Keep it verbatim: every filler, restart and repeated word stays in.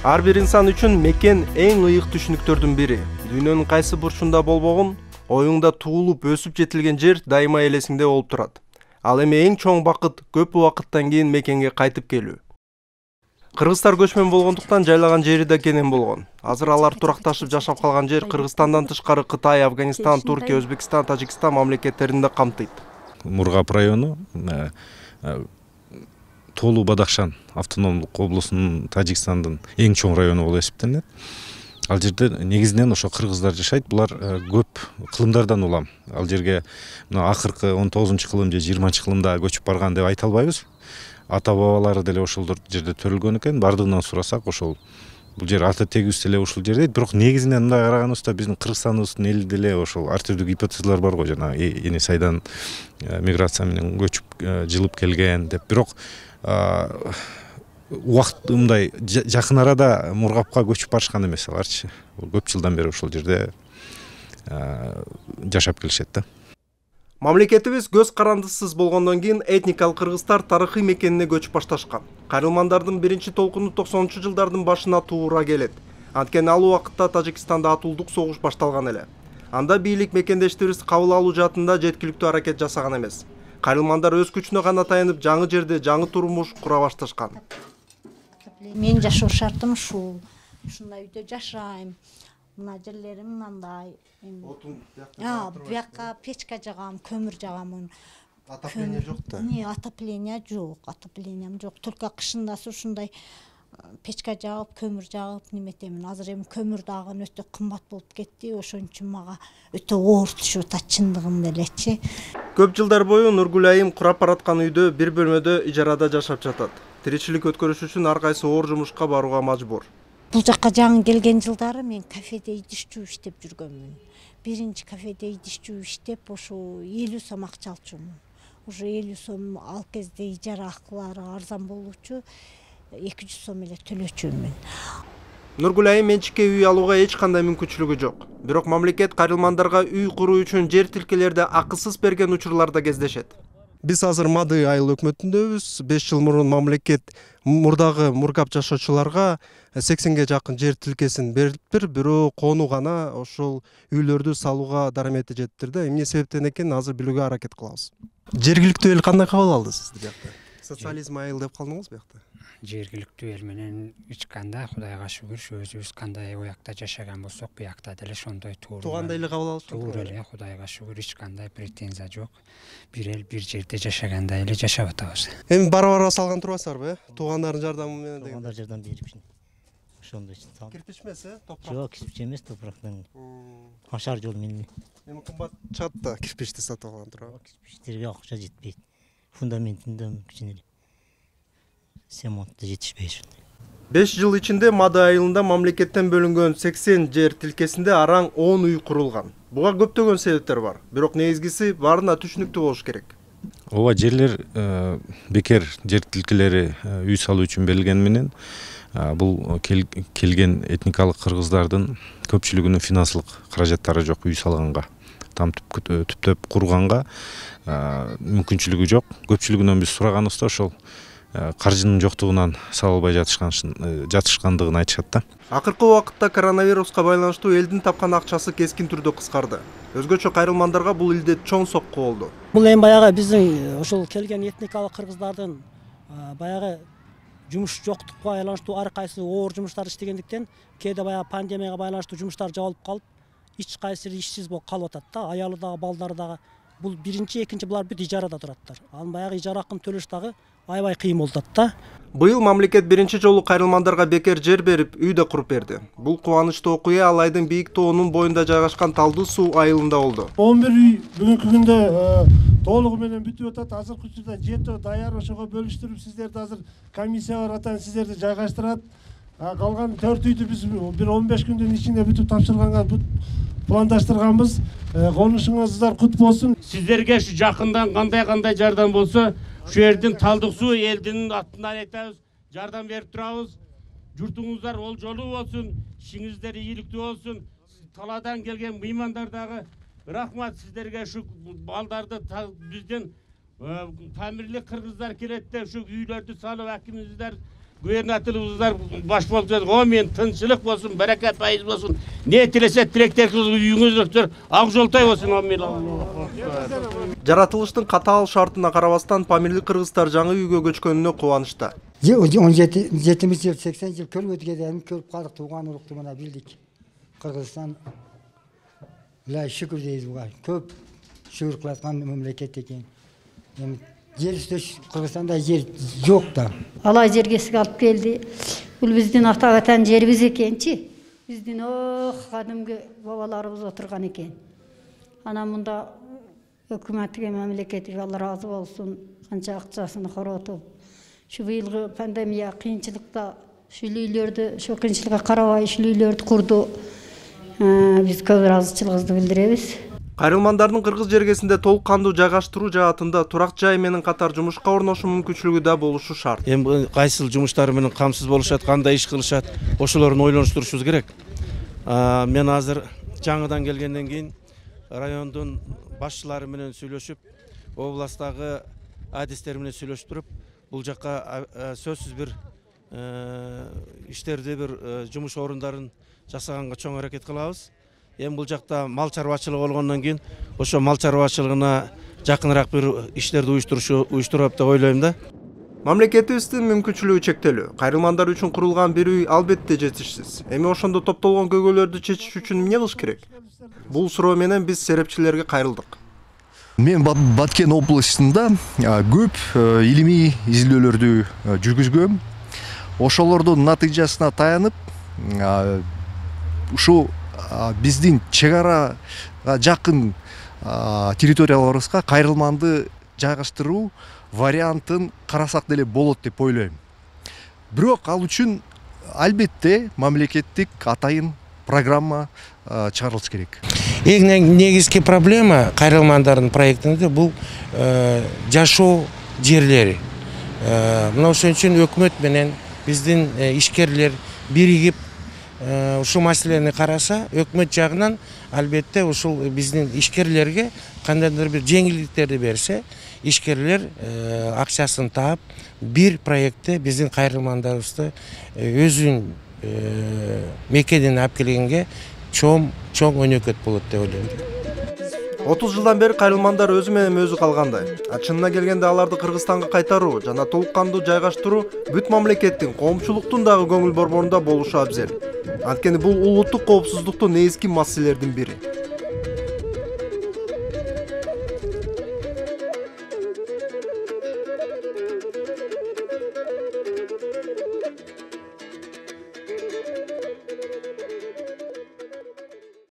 Ар бир инсан үчүн мекен эң ыйык түшүнүктөрдүн бири. Дүйнөнүн кайсы бурчунда болбогун, оюңда туулуп өсүп жетилген жер дайыма элесиңде болуп турат. Ал эми эң чоң бакыт көп убакыттан кийин мекенге кайтып келүү. Кыргызстар көчмөн болгондуктан жайлаган жери да кенен болгон. Азыр алар туракташып жашап калган жер Кыргызстандан тышкары Кытай, Афганистан, Туркия, Өзбекстан, Тажикстан мамлекеттерин да камтыйт. Мургап району Толу Бадахшан автономдук облусунун Тажикстандын эң чоң району болуп эсептелет. Ал жерде негизинен ошо кыргыздар жашайт. Булар көп кылымдардан улам. Ал жерге мына акыркы он тогузунчу кылым же жыйырманчы кылымда көчүп барган деп айта албайбыз. Ата бабалары деле ошол жерде төрөлгөн экен. Бардыгынан сурасак ошол бул жер ата тегибиз деле ушул жерде. Бирок негизинен мындай караганыбызда биздин Кыргызстаныбыздын эли деле ошол ар түрдүү гипотезалар бар го, жана эни сайдан миграция менен көчүп жылып келген деп. Бирок убакыт мындай жакын арада Мургапка көчүп барышкан эмес аларчы. Көп жылдан бери ошол жерде жашап келишет да. Мамлекетибиз көз карандысыз болгондон кийин этникалык кыргыздар тарыхый мекенине көчүп башташкан. Кайрылмандардын биринчи толкуну токсонунчу жылдардын башына туура келет. Анткени ал убакытта Тажикстанда атуулдук согуш башталган эле. Анда бийлик мекендештерибиз кабыл алуу жаатында жеткиликтүү аракет жасаган эмес. Кайрылмандар өз күчүнө гана таянып, жаңы жерде жаңы турмуш кура башташкан. Мен жашоо шартым ушул. Ушундай үйдө жашайм. Мына жерлерим мындай. Отун А, бияка печка жагам, көмүр жагам. Отопление жок да. Не, отопление жок, отоплением жок. Только кышында ушундай печка жагып, көмүр жагып неметемин. Азыр эми көмүр дагы өтө кымбат болуп кетти. Ошон үчүн мага өтө оор түшүп атат чындыгында элечи. Көп жылдар бою Нургүл айым курап бараткан үйдө бир бөлмөдө ижарада жашап жатат. Тиричилик өткөрүш үчүн ар кайсы оор жумушка барууга мажбур. Бул жакка жаңы келген жылдары мен кафеде идишчүү иштеп жүргөнмүн. Биринчи кафеде идишчүү иштеп, ошо элүү сом акча алчумун. Уже элүү сом ал кезде ижара акылары арзан болчу, эки жүз сом эле төлөчүмүн. Нургүл айым менчикке үй алууга эч кандай мүмкүнчүлүгү жок. Бирок мамлекет кайрылмандарга үй куруу үчүн жер тилкелерди акысыз берген учурларда кездешет. Биз азыр Мады айыл өкмөтүндөбүз. беш жыл мурун мамлекет мурдагы Мургап жашоочуларга сексенге жакын жер тилкесин бериптир, бирок кону гана ошол үйлөрдү салууга дарамети жеттир да. Эмне себептен экенин азыр билүүгө аракет кылабыз. Жергиликтүү эл кандай кабыл алды сизди биякта? Социализм айыл деп калдыңыз биякта? Жергиликтүү эл менен эч кандай, Кудайга шүгүр, өзүбүз кандай уякта жашаган болсок, буякта деле ошондой туура. Туугандай эле кабыл алышат. Туура эле, Кудайга шүгүр, эч кандай претензия жок. Бир эл бир жерде жашагандай эле жашап атабыз. Эми бара-бара салган турбайсыздарбы, э? Туугандардын жардамы менен деген. Туугандар жардам берипшин. Ошондой салып. Кирпич эмес, э? Топурак. Жок, кирпич эмес, топурактан. Ашар жол менен. Эми кымбат чыгат да кирпичти сатып алган турабы? Кирпичтерге акча жетпейт. Фундаментинде кичине эле семонтто жетишпейт ушундай. беш жыл ичинде Мады айылында мамлекеттен бөлүнгөн сексен жер тилкесинде араң он үй курулган. Буга көптөгөн себептер бар. Бирок негизгиси баарына түшүнүктүү болуш керек. Ооба, жерлер бекер жер тилкелери үй салуу үчүн берилгени менен бул келген этникалык кыргыздардын көпчүлүгүнүн финансылык каражаттары жок үй салганга, там түптөп курганга мүмкүнчүлүгү жок. Көпчүлүгүнөн биз сураганыбызда ошол каржынын жоктугунан сала албай жатышкандыгын айтышат да. Акыркы убакытта коронавируска байланыштуу элдин тапкан акчасы кескин түрдө кыскарды. Өзгөчө кайрылмандарга бул илдет чоң сокку болду. Бул эми баягы биздин ошол келген этникалык кыргыздардын баягы жумуш жоктукка байланыштуу ар кайсы оор жумуштар иштегендиктен, кээде баягы пандемияга байланыштуу жумуштар жабылып калып, эч кайсы ишсиз болуп калып атат да. Аялы дагы, балдары дагы. Бул биринчи, экинчи булар бүт ижарада тураттар. Анын баягы ижара акын төлөш дагы аябай кыйын болуп атат да. Быйыл мамлекет биринчи жолу кайрылмандарга бекер жер берип, үй да куруп берди. Бул кубанычтуу окуя ал айдын бийик тоонун боюнда жайгашкан Талдуу суу айылында болду. он бир үй бүгүнкү күндө толугу менен бүтүп атат. Азыркы учурда жетөө даяр, ошого бөлүштүрүп сиздерди азыр комиссия бар атан сиздерди жайгаштырат. Калган төрт үйдү биз бир он беш күндүн ичинде бүтүп тапшырганга пландаштырганбыз. Конушуңуздар кут болсун. Сиздерге ушу жакындан кандай-кандай жардам болсо, ушу жердин Талдык суу элдин атынан айтабыз, жардам берип турабыз. Журтуңуздар ол жолу болсун, ишиңиздер ийгиликтүү болсун. Таладан келген мыймандар дагы рахмат сиздерге, ушу балдарды биздин тамирлик кыргыздар келет деп ушу үйлөрдү салып акимиздер губернаторыбыздар баш болуп жатат. О мен тынчылык болсун, баракат пайыз болсун. Не тилесе тилектериңиз үйүңүздөр ак жолтой болсун. О мен Жаратылыштын катаал шартына карабастан Памирлик кыргыздар жаңы үйгө көчкөнүнө кубанычта. он жетимиш жыл, сексен жыл көрбөдүк эми көрүп калдык, тууган урукту мына билдик. Кыргызстан ла шүкүр дейбиз буга. Көп шүгүр кылаткан мамлекет экен. Эми жер үстөш Кыргызстанда жер жок да. Алай жерге сиз алып келди. Бул биздин ата ватан жерибиз экенчи. Биздин ох кадимки бабаларыбыз отурган экен. Анан мында өкмөтүгө, мамлекетиге Алла разы болсун, канча акчасын коротуп, şu быйылгы пандемия кыйынчылыкта ушул үйлөрдү, ошо кыйынчылыкка карабай ушул үйлөрдү курду. Биз көп ыраазычылыгыбызды билдиребиз. Кайрылмандардын кыргыз жергесинде толук кандуу жайгаштыруу жаатында турак жай менен катар жумушка орношуу мүмкүнчүлүгү да болушу шарт. Эми кайсыл жумуштары менен камсыз болушат, кандай иш кылышат, ошолорун ойлонуштурушубуз керек. Мен азыр жаңыдан келгенден кийин райондун башчылары менен сүйлөшүп, областтагы адистер менен сүйлөшүп туруп, бул жакка сөзсүз бир иштерди, бир жумуш орундарын жасаганга чоң аракет кылабыз. Эми бул жакта мал чарбачылыгы болгондон кийин ошо мал чарбачылыгына жакыныраак бир иштерди уюштурушу уюштуруп деп ойлойм да. Мамлекетибиздин мүмкүнчүлүгү чектелүү. Кайрылмандар үчүн курулган бир үй албетте жетишсиз. Эми ошондо топтолгон көйгөйлөрдү чечиш үчүн эмне кылыш керек? Бул суроо менен биз серепчилерге кайрылдык. Мен Баткен областында көп илимий изилдөөлөрдү жүргүзгөм. Ошолордун натыйжасына таянып, ушу биздин чек арага жакын территорияларыбызга кайрылманды жайгаштыруу вариантын карасак деле болот деп ойлойм. Бирок ал үчүн албетте мамлекеттик атайын программа чыгарылыш керек. Эң негизги проблема кайрылмандардын проектинде бул жашоо жерлери. Мына ошон үчүн өкмөт менен биздин ишкерлер биригип ушул маселени караса, өкмөт жагынан албетте ушул биздин ишкерлерге кандайдыр бир жеңилдиктерди берсе, ишкерлер акчасын таап бир проектте биздин кайрылмандарыбызды өзүнүн мекенине алып келгенге чоң чоң өнөкөт болот деп ойлойм. отуз жылдан бери кайрылмандар өзү менен өзү калгандай. Чынына келгенде аларды Кыргызстанга кайтаруу жана толук кандуу жайгаштыруу бүт мамлекеттин, коомчулуктун дагы көңүл борборунда болушу абзел. Анткени бул улуттук коопсуздуктун негизги маселелердин бири.